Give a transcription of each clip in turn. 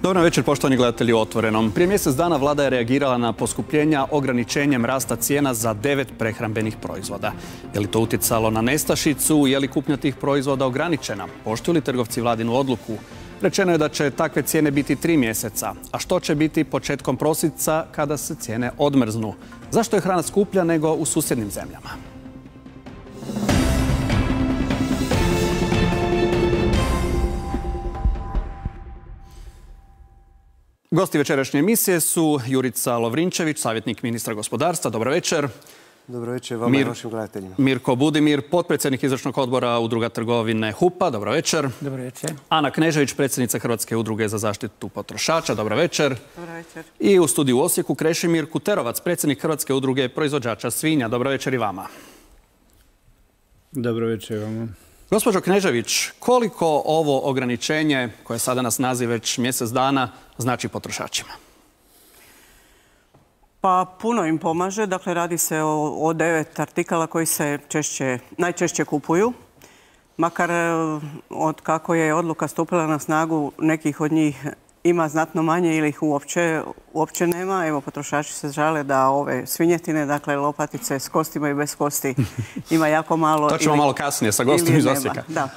Dobar večer, poštovani gledatelji u Otvorenom. Prije mjesec dana vlada je reagirala na poskupljenja ograničenjem rasta cijena za 9 prehrambenih proizvoda. Je li to utjecalo na nestašicu? Je li kupnja tih proizvoda ograničena? Poštuju li trgovci vladinu odluku? Rečeno je da će takve cijene biti 3 mjeseca. A što će biti početkom prosinca kada se cijene odmrznu? Zašto je hrana skuplja nego u susjednim zemljama? Gosti večerašnje emisije su Jurica Lovrinčević, savjetnik ministra gospodarstva. Dobro večer. Dobro večer vama i vašim gledateljima. Mirko Budimir, potpredsjednik izvršnog odbora Udruga trgovine HUP-a. Dobro večer. Dobro večer. Ana Knežević, predsjednica Hrvatske udruge za zaštitu potrošača. Dobro večer. Dobro večer. I u studiju u Osijeku Krešimir Kuterovac, predsjednik Hrvatske udruge proizvođača svinja. Dobro večer i vama. Dobro večer vama. Gospođo Knežević, koliko ovo ograničenje, koje sada nas naziv već mjesec dana, znači potrošačima? Pa puno im pomaže. Dakle, radi se o 9 artikala koji se najčešće kupuju. Makar od kako je odluka stupila na snagu, nekih od njih ima znatno manje ili ih uopće nema. Evo, potrošači se žale da ove svinjetine, dakle lopatice s kostima i bez kosti, ima jako malo. To ćemo malo kasnije sa gostom iz Osijeka. Da.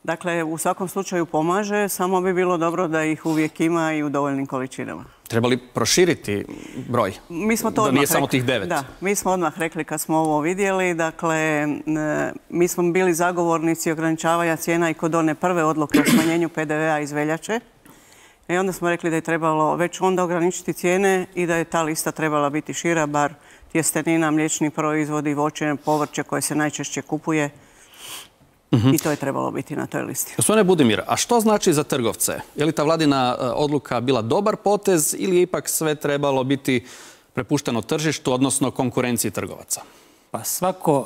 Dakle, u svakom slučaju pomaže, samo bi bilo dobro da ih uvijek ima i u dovoljnim količinama. Treba li proširiti broj? Mi smo to da nije samo tih 9? Da, mi smo odmah rekli kad smo ovo vidjeli. Dakle, mi smo bili zagovornici ograničavanja cijena i kod one prve odluke o smanjenju PDV-a iz veljače. I onda smo rekli da je trebalo već onda ograničiti cijene i da je ta lista trebala biti šira, bar tjestenina, mliječni proizvodi, voće, povrće koje se najčešće kupuje. I to je trebalo biti na toj listi. Gospodine Budimir, a što znači za trgovce? Je li ta vladina odluka bila dobar potez ili je ipak sve trebalo biti prepušteno tržištu, odnosno konkurenciji trgovaca? Pa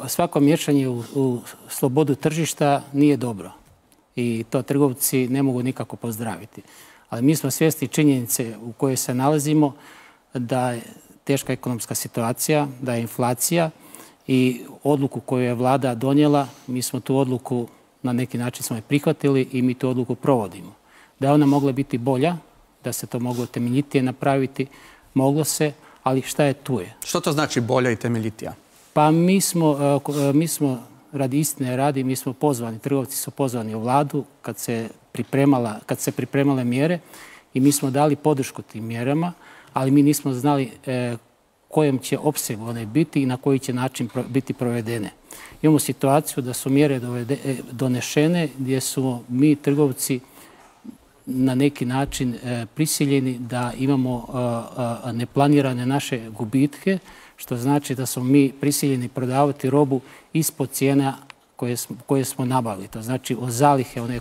svako miješanje u slobodu tržišta nije dobro. I to trgovci ne mogu nikako pozdraviti. Ali mi smo svjesni činjenice u kojoj se nalazimo, da je teška ekonomska situacija, da je inflacija i odluku koju je vlada donijela, mi smo tu odluku na neki način smo je prihvatili i mi tu odluku provodimo. Da je ona mogla biti bolja, da se to moglo temeljitije napraviti, moglo se, ali šta je tu je. Što to znači bolja i temeljitija? Pa mi smo radi istine radi, mi smo pozvani, trgovci su pozvani u vladu kad se pripremale mjere i mi smo dali podršku tim mjerama, ali mi nismo znali kojem će opsegu one biti i na koji će način biti provedene. Imamo situaciju da su mjere donešene gdje su mi trgovci na neki način prisiljeni da imamo neplanirane naše gubitke, što znači da smo mi prisiljeni prodavati robu ispod cijena koje smo nabavili. To znači o zalihe one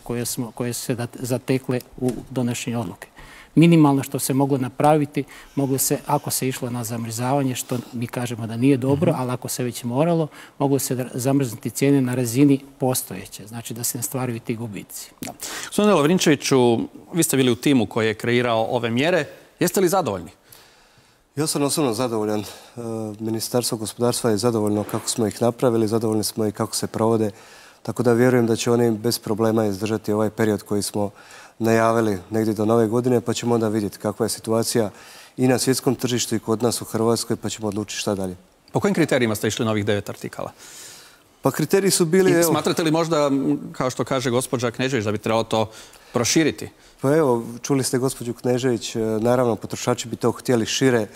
koje su se zatekle u donošenju odluke. Minimalno što se moglo napraviti, moglo se, ako se išlo na zamrzavanje, što mi kažemo da nije dobro, ali ako se već moralo, moglo se zamrznuti cijene na razini postojeće. Znači da se ne stvaraju ti gubici. Gospodine Lovrinčeviću, vi ste bili u timu koji je kreirao ove mjere. Jeste li zadovoljni? Ja sam osobno zadovoljan. Ministarstvo gospodarstva je zadovoljno kako smo ih napravili, zadovoljni smo i kako se provode. Tako da vjerujem da će oni bez problema izdržati ovaj period koji smo najavili negdje do nove godine, pa ćemo onda vidjeti kakva je situacija i na svjetskom tržištu i kod nas u Hrvatskoj, pa ćemo odlučiti šta dalje. Po kojim kriterijima ste išli na ovih 9 artikala? Pa kriteriji su bili... I smatrate li možda, kao što kaže gospođa Knežević, da bi trebalo to proširiti? Pa evo, čuli ste gospođu Knežević, naravno potrošači bi to htjeli šire,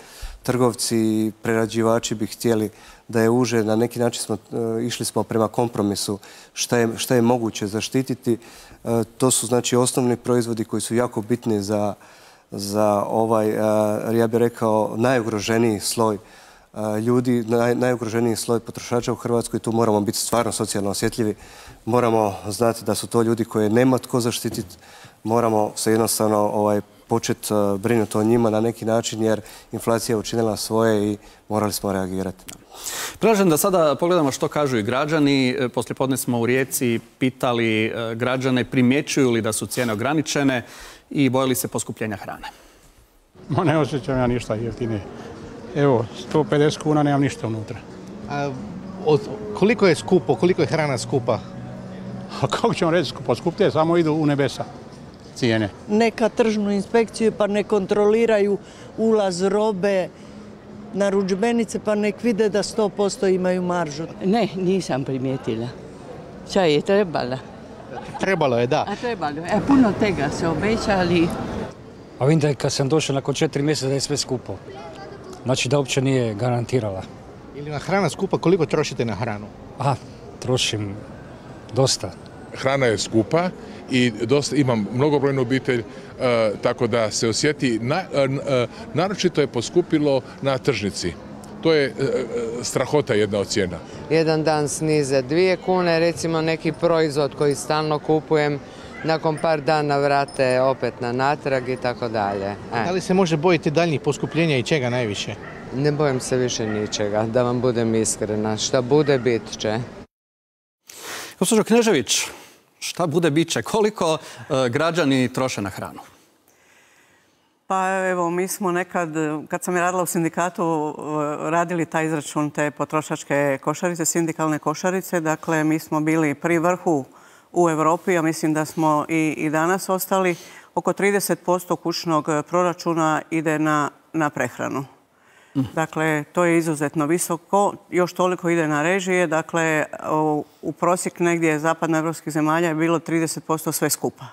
trgovci i prerađivači bi htjeli da je uže. Na neki način išli smo prema kompromisu šta je moguće zaštititi. To su znači osnovni proizvodi koji su jako bitni za ovaj, ja bih rekao, najugroženiji sloj ljudi, najugroženiji sloj potrošača u Hrvatskoj. Tu moramo biti stvarno socijalno osjetljivi. Moramo znati da su to ljudi koje nema tko zaštititi. Moramo se jednostavno početi brinuti o njima na neki način jer inflacija je učinila svoje i morali smo reagirati. Predlažem da sada pogledamo što kažu i građani. Poslijepodne smo u Rijeci pitali građane primjećuju li da su cijene ograničene i bojali se poskupljenja hrane. Ne osjećam ja ništa jeftinije. Evo, 150 kuna nemam ništa unutra. Koliko je skupo, koliko je hrana skupa? A kako ćemo reći skupo? Skuplje samo idu u nebesa. cijene. Neka tržnu inspekciju pa ne kontroliraju ulaz robe, narudžbenice pa nek vide da 100% imaju maržu. Ne, nisam primijetila. Čaj je trebala. Trebalo je, da. A trebalo. Puno tega se obećali. A vidim da kad sam došao nakon 4 mjeseca da je sve skupo. Znači da uopće nije garantirala. Ili na hrana skupa, koliko trošite na hranu? Trošim dosta. Hrana je skupa i imam mnogobrojnu obitelj, tako da se osjeti, naročito je poskupilo na tržnici. To je strahota jedna od cijena. Jedan dan snize 2 kune, recimo neki proizvod koji stalno kupujem, nakon par dana vrate opet na natrag i tako dalje. Da li se može bojiti daljnjih poskupljenja i čega najviše? Ne bojim se više ničega, da vam budem iskrena. Šta bude, bit će. Gospođo Knežević, šta bude, bit će. Koliko građani troše na hranu? Pa evo, mi smo nekad, kad sam radila u sindikatu, radili taj izračun te potrošačke košarice, sindikalne košarice. Dakle, mi smo bili pri vrhu u Europi, a mislim da smo i danas ostali. Oko 30% kućnog proračuna ide na prehranu. Dakle, to je izuzetno visoko. Još toliko ide na režije. Dakle, u prosjek negdje zapadnoevropskih zemalja je bilo 30% sve skupa.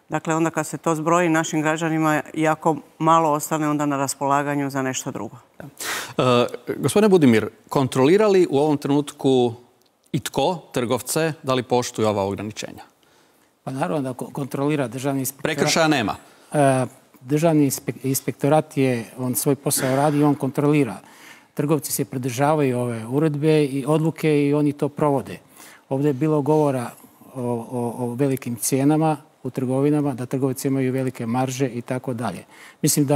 Dakle, onda kad se to zbroji, našim građanima jako malo ostane onda na raspolaganju za nešto drugo. Gospodine Budimir, kontrolira li u ovom trenutku i tko trgovce, da li poštuju ova ograničenja? Pa naravno da kontrolira državni inspektorat. Prekršaja nema? Državni inspektorat on svoj posao radi i on kontrolira. Trgovci se pridržavaju ove uredbe i odluke i oni to provode. Ovdje je bilo govora o velikim cijenama u trgovinama, da trgovci imaju velike marže i tako dalje. Mislim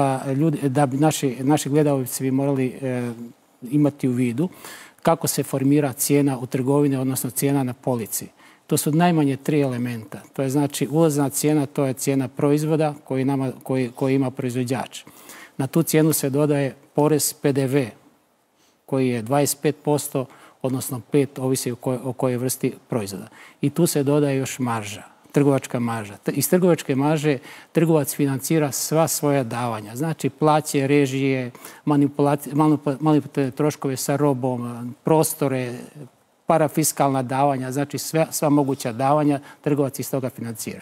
da bi naši gledalci bi morali imati u vidu kako se formira cijena u trgovine, odnosno cijena na polici. To su najmanje 3 elementa. To je znači ulazna cijena, to je cijena proizvoda koji ima proizvođač. Na tu cijenu se dodaje porez PDV koji je 25%, odnosno 5%, ovisi o kojoj vrsti proizvoda. I tu se dodaje još marža, trgovačka marža. Iz trgovačke marže trgovac financira sva svoja davanja. Znači plaće, režije, manipulativne troškove sa robom, prostore, parafiskalna davanja, znači sva moguća davanja trgovac iz toga financira.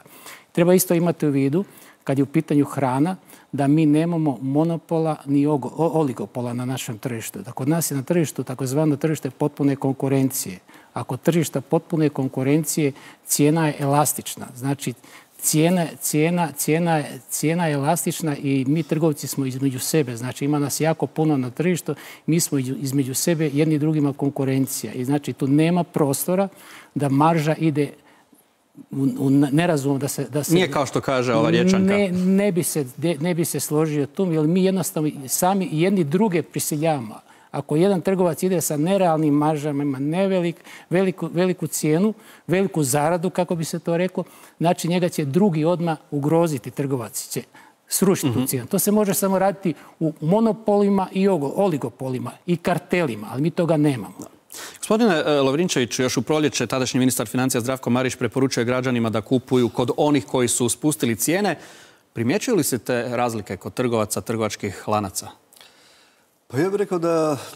Treba isto imati u vidu, kad je u pitanju hrana, da mi nemamo monopola ni oligopola na našem tržištu. Da kod nas je na tržištu takozvano tržište potpune konkurencije. Ako tržišta potpune konkurencije, cijena je elastična. Znači, cijena je elastična i mi trgovci smo između sebe. Znači, ima nas jako puno na tržištu. Mi smo između sebe jedni drugima konkurencija. I znači, tu nema prostora da marža ide u nerazum da se... Nije kao što kaže ova Riječanka. Ne bi se složio tu, jer mi jednostavno sami jedni druge prisiljavamo. Ako jedan trgovac ide sa nerealnim maržama, ima veliku cijenu, veliku zaradu, kako bi se to reklo, znači njega će drugi odmah ugroziti, trgovac će srušiti tu cijenu. To se može samo raditi u monopolima i oligopolima i kartelima, ali mi toga nemamo. Gospodine Lovrinčeviću, još u proljeće tadašnji ministar financija Zdravko Marić preporučuje građanima da kupuju kod onih koji su spustili cijene. Primjećuju li se te razlike kod trgovaca, trgovačkih lanaca? Pa ja bih rekao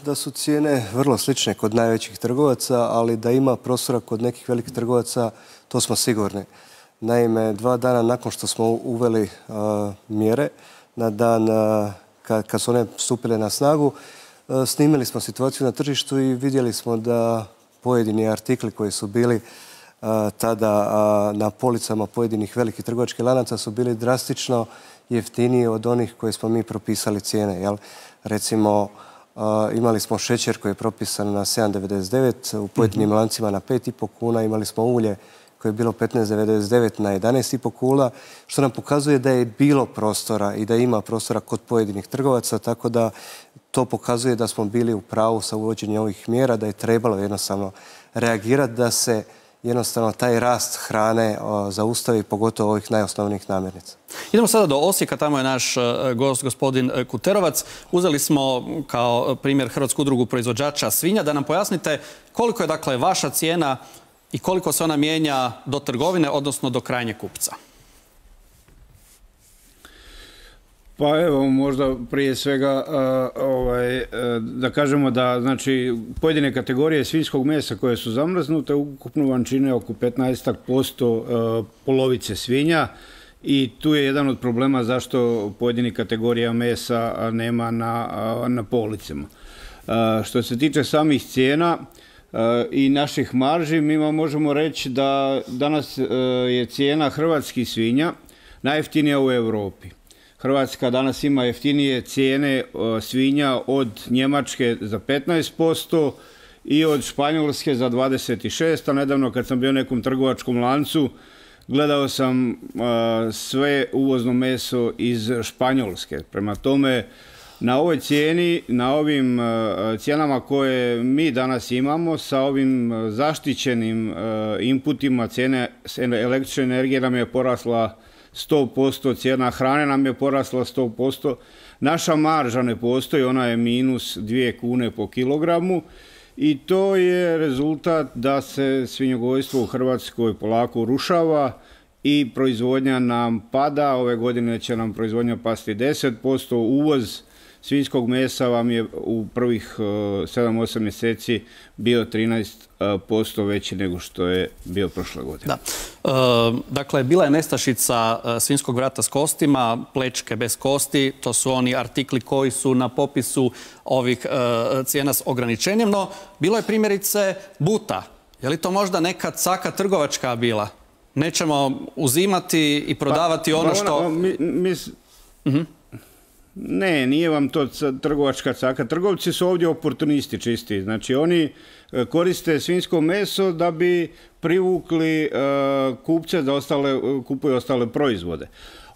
da su cijene vrlo slične kod najvećih trgovaca, ali da ima prostora kod nekih velikih trgovaca, to smo sigurni. Naime, 2 dana nakon što smo uveli mjere, na dan kad su one stupile na snagu, snimili smo situaciju na tržištu i vidjeli smo da pojedini artikli koji su bili tada na policama pojedinih velikih trgovačkih lanaca su bili drastično jeftiniji od onih koje smo mi propisali cijene. Recimo, imali smo šećer koji je propisan na 7,99, u pojedinim lancima na 5,5 kuna, imali smo ulje koje je bilo 15,99 na 11,5 kuna, što nam pokazuje da je bilo prostora i da ima prostora kod pojedinih trgovaca, tako da to pokazuje da smo bili u pravu sa uvođenjem ovih mjera, da je trebalo jednostavno reagirati da se jednostavno taj rast hrane zaustavi, pogotovo ovih najosnovnijih namirnica. Idemo sada do Osijeka, tamo je naš gost, gospodin Kuterovac. Uzeli smo kao primjer Hrvatsku udrugu proizvođača svinja. Da nam pojasnite koliko je dakle vaša cijena i koliko se ona mijenja do trgovine, odnosno do krajnjeg kupca. Pa evo, možda prije svega da kažemo da znači, pojedine kategorije svinjskog mesa koje su zamrznute ukupno vam čine oko 15% polovice svinja i tu je jedan od problema zašto pojedini kategorija mesa nema na policama. Što se tiče samih cijena i naših marži, mi vam možemo reći da danas je cijena hrvatskih svinja najjeftinija u Europi. Hrvatska danas ima jeftinije cijene svinja od Njemačke za 15% i od Španjolske za 26%, a nedavno kad sam bio u nekom trgovačkom lancu gledao sam sve uvozno meso iz Španjolske. Prema tome, na ovoj cijeni, na ovim cijenama koje mi danas imamo, sa ovim zaštićenim inputima, cijene električne energije nam je porasla 100%, cijena hrane nam je porasla 100%, naša marža ne postoji, ona je minus 2 kune po kilogramu i to je rezultat da se svinjogojstvo u Hrvatskoj polako urušava i proizvodnja nam pada. Ove godine će nam proizvodnja pasti 10%, uvoz svinjskog mesa vam je u prvih 7-8 mjeseci bio 13% veći nego što je bio prošle godine. Dakle, bila je nestašica svinjskog vrata s kostima, plečke bez kosti, to su oni artikli koji su na popisu ovih cijena s ograničenjem, no bilo je primjerice buta. Je li to možda neka caka trgovačka bila? Nećemo uzimati i prodavati ono što... Ne, nije vam to trgovačka caka. Trgovci su ovdje oportunisti čisti. Znači, oni koriste svinjsko meso da bi privukli kupce da kupuju ostale proizvode.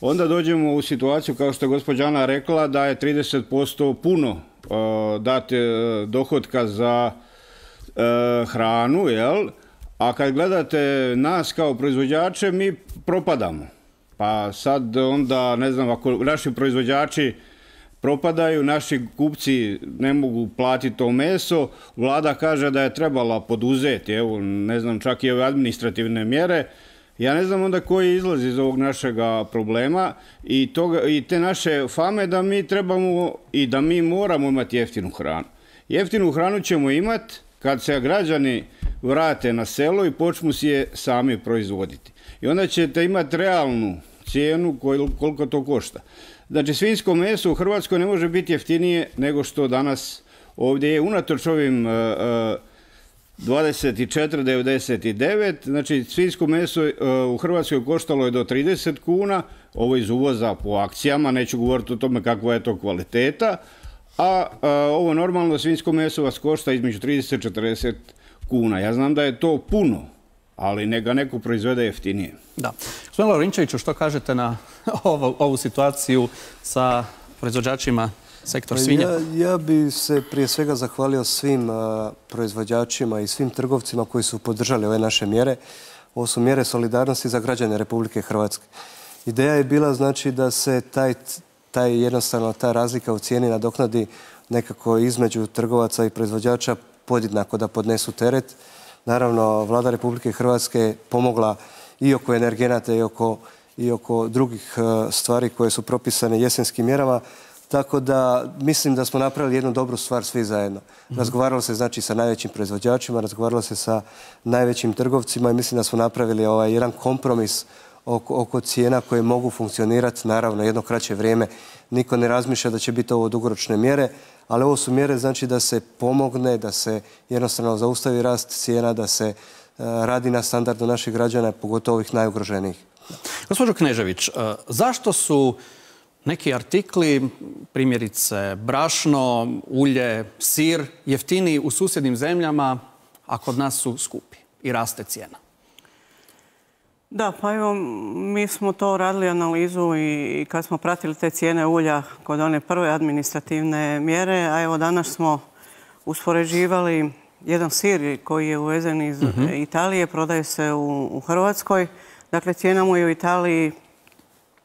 Onda dođemo u situaciju, kao što je gospođa Ana rekla, da je 30% puno dati dohotka za hranu, jel? A kad gledate nas kao proizvođače, mi propadamo. Pa sad onda, ne znam, ako naši proizvođači propadaju, naši kupci ne mogu platiti to meso, vlada kaže da je trebala poduzeti, evo, ne znam, čak i ove administrativne mjere. Ja ne znam onda koji izlaz iz ovog našega problema i te naše fame da mi trebamo i da mi moramo imati jeftinu hranu. Jeftinu hranu ćemo imati kad se građani vrate na selo i počnu si je sami proizvoditi. I onda ćete imati realnu cijenu koliko to košta. Znači, svinjsko meso u Hrvatskoj ne može biti jeftinije nego što danas ovdje je, unatoč ovim 24,99. Znači, svinjsko meso u Hrvatskoj koštalo je do 30 kuna, ovo iz uvoza po akcijama, neću govoriti o tome kakva je to kvaliteta, a ovo normalno svinjsko meso vas košta između 30 i 40 kuna. Ja znam da je to puno, ali neka neko proizvede jeftinije. Da. Gospodin Lovrinčeviću, što kažete na ovu situaciju sa proizvođačima sektor svinja? Ja bi se prije svega zahvalio svim proizvođačima i svim trgovcima koji su podržali ove naše mjere. Ovo su mjere solidarnosti za građane Republike Hrvatske. Ideja je bila znači da se jednostavno ta razlika u cijeni nadoknadi nekako između trgovaca i proizvođača podjednako da podnesu teret. Naravno, vlada Republike Hrvatske je pomogla i oko energenata i oko drugih stvari koje su propisane jesenskim mjerama. Tako da mislim da smo napravili jednu dobru stvar svi zajedno. Razgovaralo se znači sa najvećim proizvođačima, razgovaralo se sa najvećim trgovcima i mislim da smo napravili jedan kompromis oko cijena koje mogu funkcionirati, naravno, jedno kraće vrijeme. Niko ne razmišlja da će biti ovo dugoročne mjere, ali ovo su mjere znači da se pomogne, da se jednostavno zaustavi rast cijena, da se radi na standardu naših građana, pogotovo ovih najugroženijih. Gospođo Knežević, zašto su neki artikli, primjerice brašno, ulje, sir, jeftiniji u susjednim zemljama, a kod nas su skupi i raste cijena? Da, pa evo, mi smo to radili analizu i kad smo pratili te cijene ulja kod one prve administrativne mjere, a evo danas smo uspoređivali jedan sir koji je uvezen iz Italije, prodaje se u Hrvatskoj. Dakle, cijena mu je u Italiji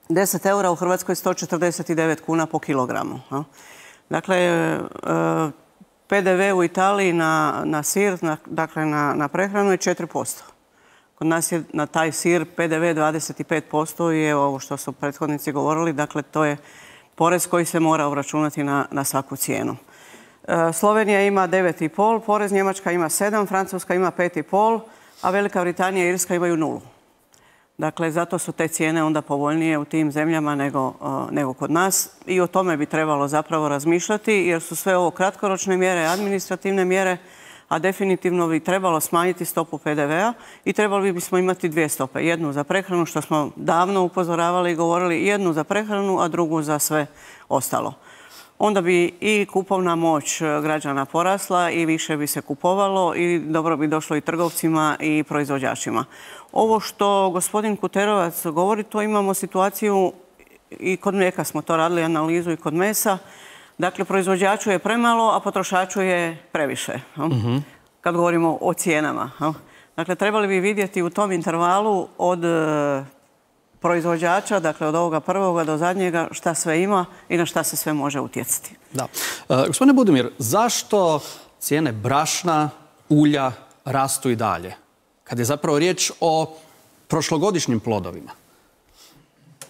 10 eura, u Hrvatskoj 149 kuna po kilogramu. Dakle, PDV u Italiji na sir, dakle na prehranu je 4%. Kod nas je na taj sir PDV 25% i evo ovo što su prethodnici govorili, dakle to je porez koji se mora uračunati na svaku cijenu. Slovenija ima 9,5 porez, Njemačka ima 7, Francuska ima 5,5, a Velika Britanija i Irska imaju 0. Dakle, zato su te cijene onda povoljnije u tim zemljama nego kod nas i o tome bi trebalo zapravo razmišljati jer su sve ovo kratkoročne mjere, administrativne mjere, a definitivno bi trebalo smanjiti stopu PDV-a i trebali bismo imati 2 stope. Jednu za prehranu, što smo davno upozoravali i govorili, jednu za prehranu, a drugu za sve ostalo. Onda bi i kupovna moć građana porasla i više bi se kupovalo i dobro bi došlo i trgovcima i proizvođačima. Ovo što gospodin Kuterovac govori, to imamo situaciju i kod mlijeka smo to radili analizu i kod mesa. Dakle, proizvođaču je premalo, a potrošaču je previše. Kad govorimo o cijenama. Dakle, trebali bi vidjeti u tom intervalu od proizvođača, dakle od ovoga prvoga do zadnjega, šta sve ima i na šta se sve može utjecati. Da. Gospodine Budimir, zašto cijene brašna, ulja rastu i dalje? Kad je zapravo riječ o prošlogodišnjim plodovima?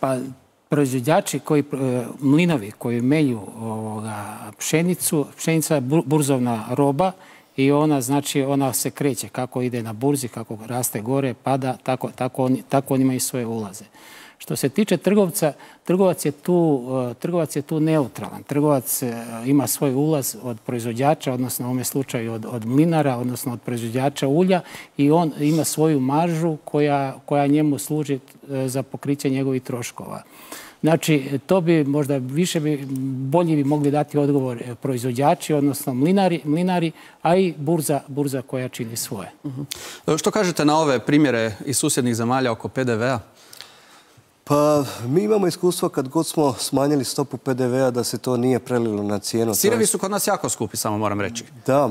Pa proizvođači, mlinovi koji melju pšenicu, pšenica je burzovna roba i ona se kreće kako ide na burzi, kako raste gore, pada, tako oni imaju svoje ulaze. Što se tiče trgovca, trgovac je tu neutralan. Trgovac ima svoj ulaz od proizvođača, odnosno u ovome slučaju od mlinara, odnosno od proizvođača ulja i on ima svoju maržu koja njemu služi za pokriće njegovih troškova. Znači, to bi možda bolje bi mogli dati odgovor proizvođači, odnosno mlinari, a i burza koja čini svoje. Što kažete na ove primjere iz susjednih zemalja oko PDV-a? Pa mi imamo iskustvo kad god smo smanjili stopu PDV-a da se to nije prelilo na cijenu. Sirevi su kod nas jako skupi, samo moram reći. Da,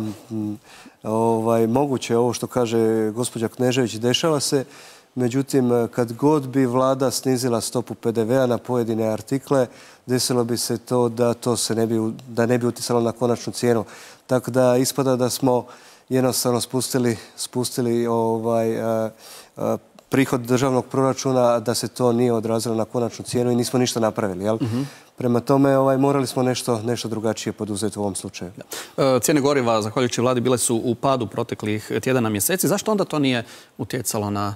moguće je ovo što kaže gospođa Knežević, dešava se. Međutim, kad god bi vlada snizila stopu PDV-a na pojedine artikle, desilo bi se to da ne bi utjecalo na konačnu cijenu. Tako da ispada da smo jednostavno spustili prihod državnog proračuna, da se to nije odrazilo na konačnu cijenu i nismo ništa napravili. Prema tome morali smo nešto drugačije poduzeti u ovom slučaju. Cijene goriva, zahvaljujući vladi, bile su u padu proteklih tjedana, mjeseci. Zašto onda to nije utjecalo na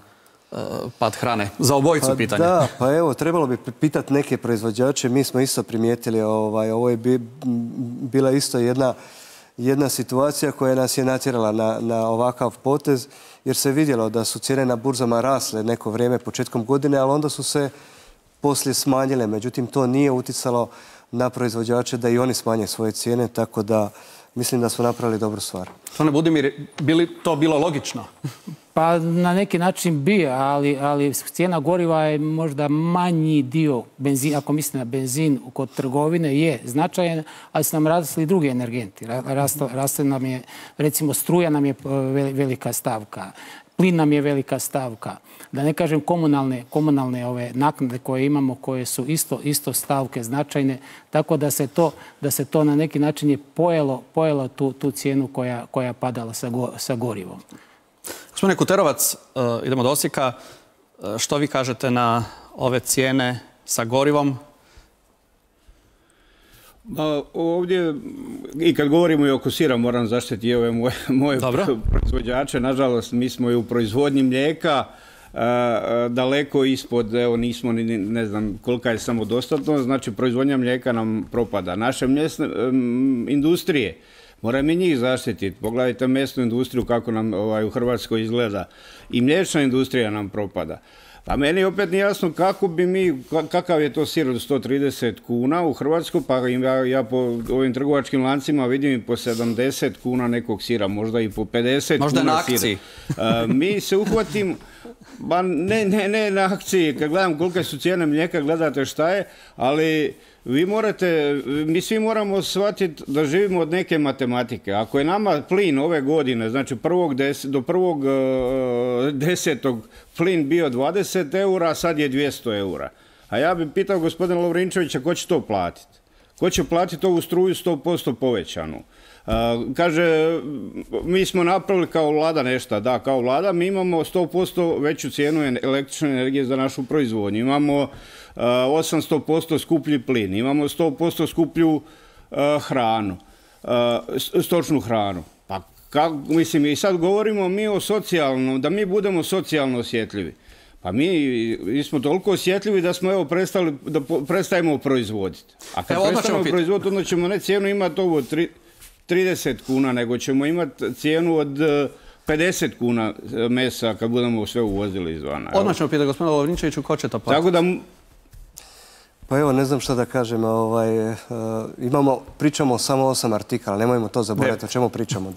pad hrane? Za obojicu pitanje. Da, pa evo, trebalo bi pitati neke proizvođače. Mi smo isto primijetili, ovo je bila isto jedna situacija koja nas je natjerala na ovakav potez, jer se vidjelo da su cijene na burzama rasle neko vrijeme početkom godine, ali onda su se poslije smanjile. Međutim, to nije utjecalo na proizvođače da i oni smanje svoje cijene, tako da mislim da smo napravili dobru stvar. Gospodine Budimir, bi li to bilo logično? Pa na neki način bi, ali cijena goriva je možda manji dio benzina, ako mislite na benzin kod trgovine, je značajan, ali su nam rasli drugi energenti. Raste nam je, recimo, struja nam je velika stavka, plin nam je velika stavka. Da ne kažem komunalne ove naknade koje imamo, koje su isto stavke značajne, tako da se to na neki način je pojelo tu cijenu koja je padala sa gorivom. Gospodine Kuterovac, idemo do Osijeka. Što vi kažete na ove cijene sa gorivom? Ovdje, i kad govorimo i oko sira, moram zaštiti ove moje proizvođače. Nažalost, mi smo i u proizvodnji mlijeka daleko ispod, evo nismo ni ne znam kolika je samodostatnost, znači proizvodnja mlijeka nam propada. Naše mjesne industrije, moramo i njih zaštititi. Pogledajte mesnu industriju kako nam u Hrvatskoj izgleda. I mliječna industrija nam propada. Pa meni opet nije jasno kakav je to sir od 130 kuna u Hrvatskoj, pa ja po ovim trgovačkim lancima vidim i po 70 kuna nekog sira, možda i po 50 možda kuna na akciji. Mi se uhvatim, ba ne na akciji, kad gledam kolike su cijene mlijeka, gledate šta je, ali mi svi moramo shvatiti da živimo od neke matematike. Ako je nama plin ove godine, znači do 1.10. plin bio 20 eura, a sad je 200 eura. A ja bih pitao gospodina Lovrinčevića ko će to platiti. Ko će platiti ovu struju 100% povećanu? Kaže, mi smo napravili kao vlada nešto. Da, kao vlada mi imamo 100% veću cijenu električne energije za našu proizvodnju. Imamo 800% skuplji plin. Imamo 100% skuplju hranu, stočnu hranu. Pa, mislim, i sad govorimo mi o socijalnom, da mi budemo socijalno osjetljivi. Pa mi smo toliko osjetljivi da smo evo prestajemo proizvoditi. A kad prestajemo proizvoditi, onda ćemo ne cijenu imati ovo 30 kuna, nego ćemo imati cijenu od 50 kuna mesa kad budemo sve uvozili izvana. Odmah ćemo pitati gospodina Lovrinčeviću ko će to platiti. Tako da... Pa evo, ne znam šta da kažem. Pričamo samo 8 artikala, nemojmo to zaboraviti o čemu pričamo.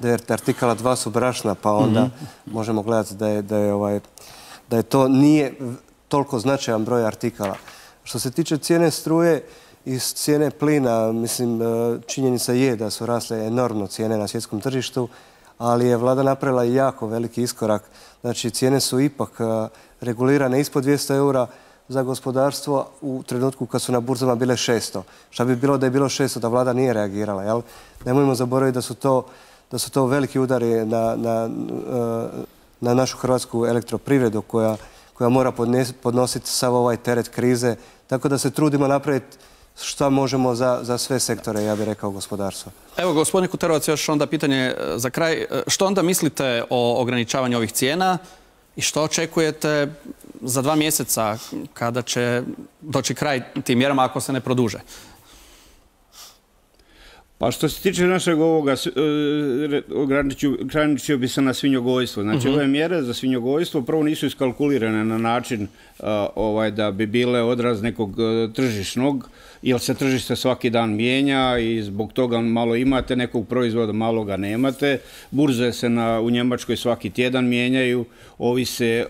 9 artikala, 2 su brašna, pa onda možemo gledati da to nije toliko značajan broj artikala. Što se tiče cijene struje i cijene plina, mislim, činjenica je da su rasle enormno cijene na svjetskom tržištu, ali je vlada napravila jako veliki iskorak. Znači, cijene su ipak regulirane ispod 200 eura za gospodarstvo u trenutku kad su na burzama bile 600. Šta bi bilo da je bilo 600, da vlada nije reagirala, jel? Nemojmo zaboraviti da su to veliki udari na našu hrvatsku elektroprivredu koja mora podnositi sav ovaj teret krize. Tako da se trudimo napraviti šta možemo za sve sektore, ja bih rekao, gospodarstva. Evo, gospodine Kuterovac, još onda pitanje za kraj. Što onda mislite o ograničavanju ovih cijena i što očekujete za 2 mjeseca kada će doći kraj tim mjerama ako se ne produže? Pa što se tiče našeg ovoga, ograničio bi se na svinjogojstvo. Znači, ove mjere za svinjogojstvo prvo nisu iskalkulirane na način da bi bile odraz nekog tržišnog, jer se tržište svaki dan mijenja i zbog toga malo imate nekog proizvoda, malo ga nemate. Burze se u Njemačkoj svaki tjedan mijenjaju, ovise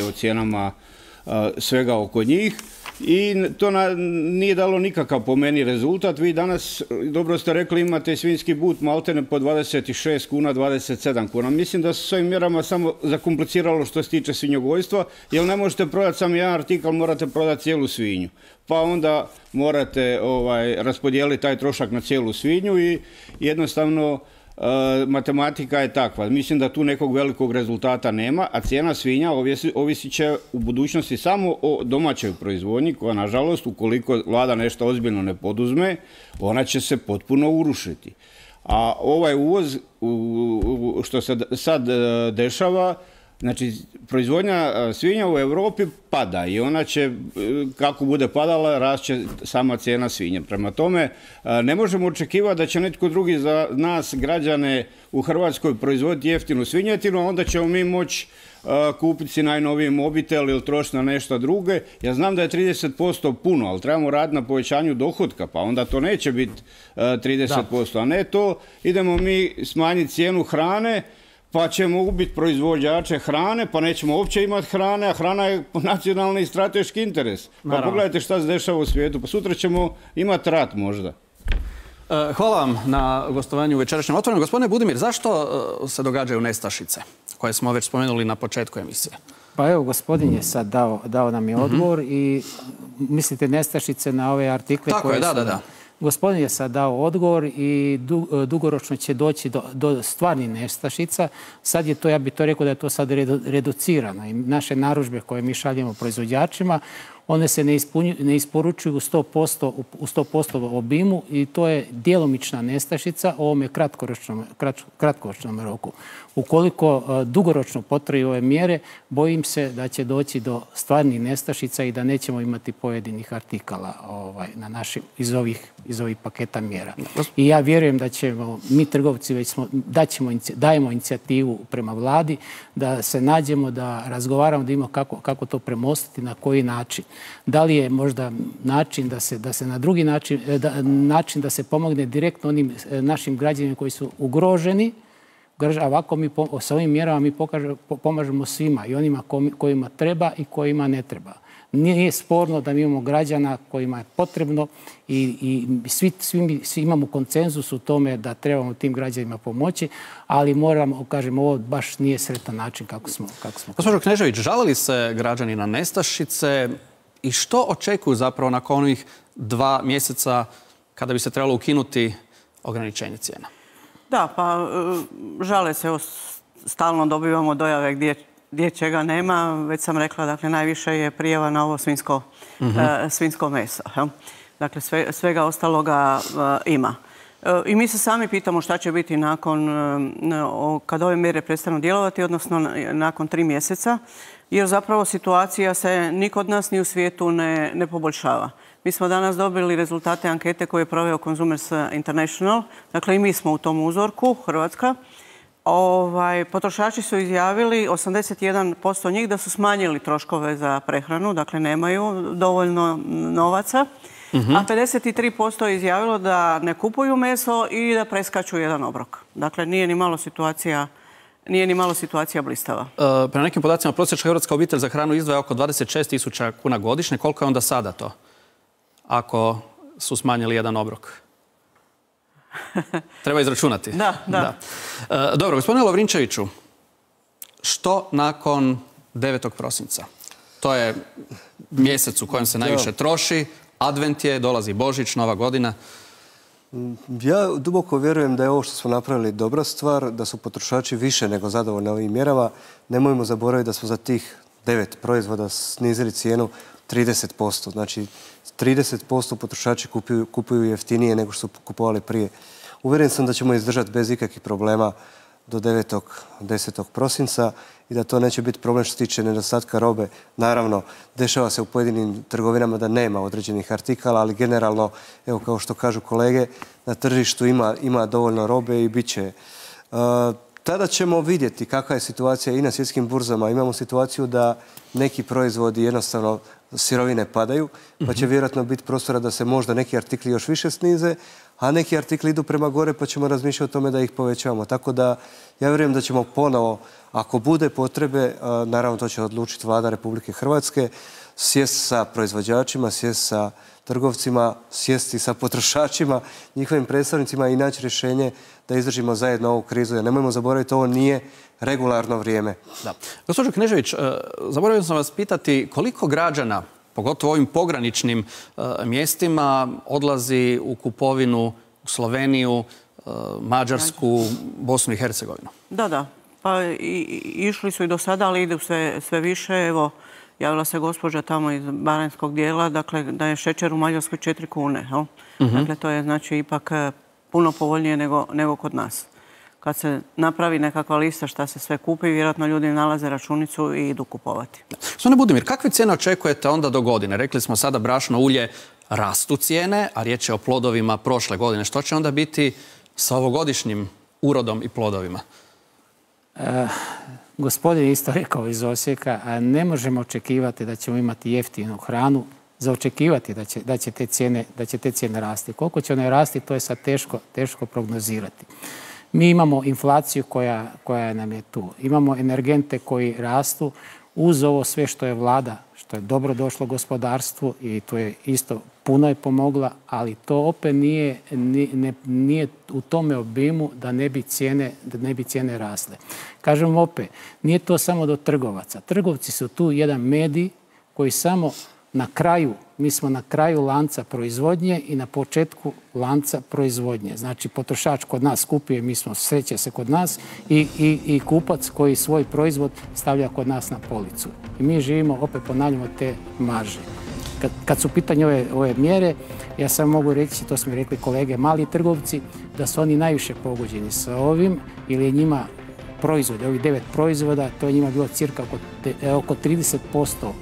o cijenama svega oko njih. I to nije dalo nikakav po meni rezultat. Vi danas, dobro ste rekli, imate svinjski but maltene po 26 kuna, 27 kuna. Mislim da su s ovim mjerama samo zakompliciralo što se tiče svinjogojstva, jer ne možete prodati samo jedan artikal, morate prodati cijelu svinju. Pa onda morate raspodijeliti taj trošak na cijelu svinju i jednostavno matematika je takva. Mislim da tu nekog velikog rezultata nema, a cijena svinja ovisit će u budućnosti samo o domaćoj proizvodnji, koja, nažalost, ukoliko vlada nešto ozbiljno ne poduzme, ona će se potpuno urušiti. A ovaj uvoz, što se sad dešava, znači, proizvodnja svinja u Europi pada i ona će, kako bude padala, rašće sama cijena svinje. Prema tome, ne možemo očekivati da će netko drugi za nas, građane u Hrvatskoj, proizvoditi jeftinu svinjetinu, a onda ćemo mi moći kupiti si najnoviji mobitel ili trošiti na nešto druge. Ja znam da je 30% puno, ali trebamo raditi na povećanju dohotka, pa onda to neće biti 30%, a ne to. Idemo mi smanjiti cijenu hrane, pa ćemo ubiti proizvođače hrane, pa nećemo uopće imati hrane, a hrana je nacionalni i strateški interes. Pa pogledajte šta se dešava u svijetu, pa sutra ćemo imati rat možda. Hvala vam na gostovanju u večerašnjem Otvorenom. Gospodine Budimir, zašto se događaju nestašice koje smo već spomenuli na početku emisije? Pa evo, gospodin je sad dao nam je odgovor i mislite nestašice na ove artikle koje su... Tako je, da. Gospodin je sad dao odgovor i dugoročno će doći do stvarnih nestašica. Sad je to, ja bih to rekao da je to sad reducirano. I naše narudžbe koje mi šaljemo proizvođačima, one se ne isporučuju u 100% obimu i to je djelomična nestašica u ovome kratkoročnom roku. Ukoliko dugoročno potraju ove mjere, bojim se da će doći do stvarnih nestašica i da nećemo imati pojedinih artikala na našim iz ovih paketa mjera. I ja vjerujem da ćemo, mi trgovci već dajemo inicijativu prema vladi, da se nađemo, da razgovaramo, da imamo kako to premostiti, na koji način. Da li je možda način da se na drugi način da se pomogne direktno onim našim građanima koji su ugroženi, a ovako mi sa ovim mjerama mi pomažemo svima, i onima kojima treba i kojima ne treba. Nije sporno da mi imamo građana kojima je potrebno i svi imamo konsenzus u tome da trebamo tim građanima pomoći, ali moramo, kažem, ovo baš nije sretan način kako smo. Gospođo Knežević, žale li se građani na nestašice I što očekuju zapravo nakon onih 2 mjeseca kada bi se trebalo ukinuti ograničenje cijena? Da, pa žale se, stalno dobivamo dojave gdje čega nema. Već sam rekla, dakle, najviše je prijava na ovo svinjsko meso. Dakle, svega ostaloga ima. I mi se sami pitamo šta će biti nakon, kad ove mjere prestanu djelovati, odnosno nakon 3 mjeseca, jer zapravo situacija se ni kod nas ni u svijetu ne poboljšava. Mi smo danas dobili rezultate ankete koje je proveo Consumers International, dakle i mi smo u tom uzorku, Hrvatska. Potrošači su izjavili, 81% njih, da su smanjili troškove za prehranu, dakle nemaju dovoljno novaca, a 53% je izjavilo da ne kupuju meso i da preskaču jedan obrok. Dakle, nije ni malo situacija blistava. Prema nekim podacima, prosječna hrvatska obitelj za hranu izdvaja oko 26.000 kuna godišnje. Koliko je onda sada to, ako su smanjili jedan obrok? Treba izračunati. Da. Dobro, gospodine Lovrinčeviću, što nakon 9. prosinca? To je mjesec u kojem se najviše troši, advent je, dolazi Božić, Nova godina. Ja duboko vjerujem da je ovo što smo napravili dobra stvar, da su potrošači više nego zadovoljni ovim mjerama. Nemojmo zaboraviti da smo za tih 9 proizvoda snizili cijenu 30%. Znači, 30% potrošači kupuju jeftinije nego što su kupovali prije. Uvjeren sam da ćemo izdržati bez ikakvih problema do 9. 10. prosinca i da to neće biti problem što se tiče nedostatka robe. Naravno, dešava se u pojedinim trgovinama da nema određenih artikala, ali generalno, evo kao što kažu kolege, na tržištu ima dovoljno robe i bit će. Tada ćemo vidjeti kakva je situacija i na svjetskim burzama. Imamo situaciju da neki proizvodi jednostavno sirovine padaju, pa će vjerojatno biti prostora da se možda neki artikli još više snize, a neki artikli idu prema gore pa ćemo razmišljati o tome da ih povećavamo. Tako da ja vjerujem da ćemo ponovo, ako bude potrebe, naravno to će odlučiti Vlada Republike Hrvatske, sjesti sa proizvođačima, sjesti sa trgovcima, sjesti sa potrošačima, njihovim predstavnicima i naći rješenje da izdržimo zajedno ovu krizu. Jer nemojmo zaboraviti, ovo nije regularno vrijeme. Da. Gospođo Knežević, zaboravio sam vas pitati koliko građana, pogotovo ovim pograničnim mjestima, odlazi u kupovinu u Sloveniju, Mađarsku, Bosnu i Hercegovinu? Da. Pa išli su i do sada, ali idu sve više. Evo, javila se gospođa tamo iz baranjskog dijela, dakle, da je šećer u Mađarskoj 4 kune. Dakle, to je znači ipak puno povoljnije nego kod nas. Kad se napravi nekakva lista šta se sve kupi, vjerojatno ljudi nalaze računicu i idu kupovati. Gospodine Budimir, kakve cijene očekujete onda do godine? Rekli smo sada brašno, ulje, rastu cijene, a riječ je o plodovima prošle godine. Što će onda biti sa ovogodišnjim urodom i plodovima? Gospodin isto rekao iz Osijeka, ne možemo očekivati da ćemo imati jeftinu hranu, za očekivati da će te cijene rasti. Koliko će one rasti, to je sad teško prognozirati. Mi imamo inflaciju koja nam je tu. Imamo energente koji rastu uz ovo sve što je vlada, što je dobro došlo gospodarstvu i to je isto puno je pomogla, ali to opet nije u tome obimu da ne bi cijene rasle. Kažem opet, nije to samo do trgovaca. Trgovci su tu jedan medij koji samo na kraju, mi smo na kraju lanca proizvodnje i na početku lanca proizvodnje. Znači, potrošač kod nas kupuje, sreće se kod nas i kupac koji svoj proizvod stavlja kod nas na policu. I mi živimo, opet ponavljamo, te marže. Kad su u pitanju ove mjere, ja samo mogu reći, to su mi rekli kolege, mali trgovci, da su oni najviše pogođeni sa ovim, ili je njima proizvode, ovih 9 proizvoda, to je njima bilo cirka oko 30%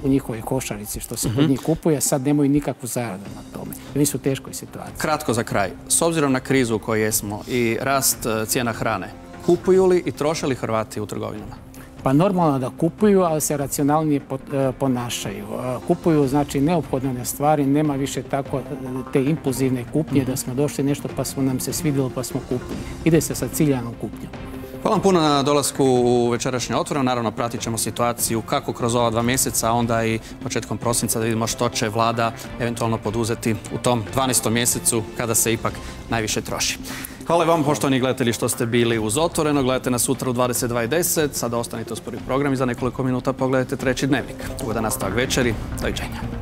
u njihovoj košarici što se kod njih kupuje, sad nemaju nikakvu zaradu na tome. Oni su u teškoj situaciji. Kratko za kraj. S obzirom na krizu u kojoj jesmo i rast cijena hrane, kupuju li i troše li Hrvati u trgovinama? Pa normalno da kupuju, ali se racionalnije ponašaju. Kupuju, znači, neophodne stvari, nema više tako te impulzivne kupnje da smo došli nešto pa nam se svidjelo pa smo kupili. Ide se sa ciljanom kupnjom. Hvala vam puno na dolasku u večerašnje Otvoreno. Naravno, pratit ćemo situaciju kako kroz ova 2 mjeseca, a onda i početkom prosinca da vidimo što će vlada eventualno poduzeti u tom 12. mjesecu kada se ipak najviše troši. Hvala vam, poštovani gledatelji, što ste bili uz Otvoreno. Gledajte nas sutra u 22:10. Sada ostanite uz prvi program i za nekoliko minuta pogledajte Treći dnevnik. Ugodan nastavak večeri. Doviđenja.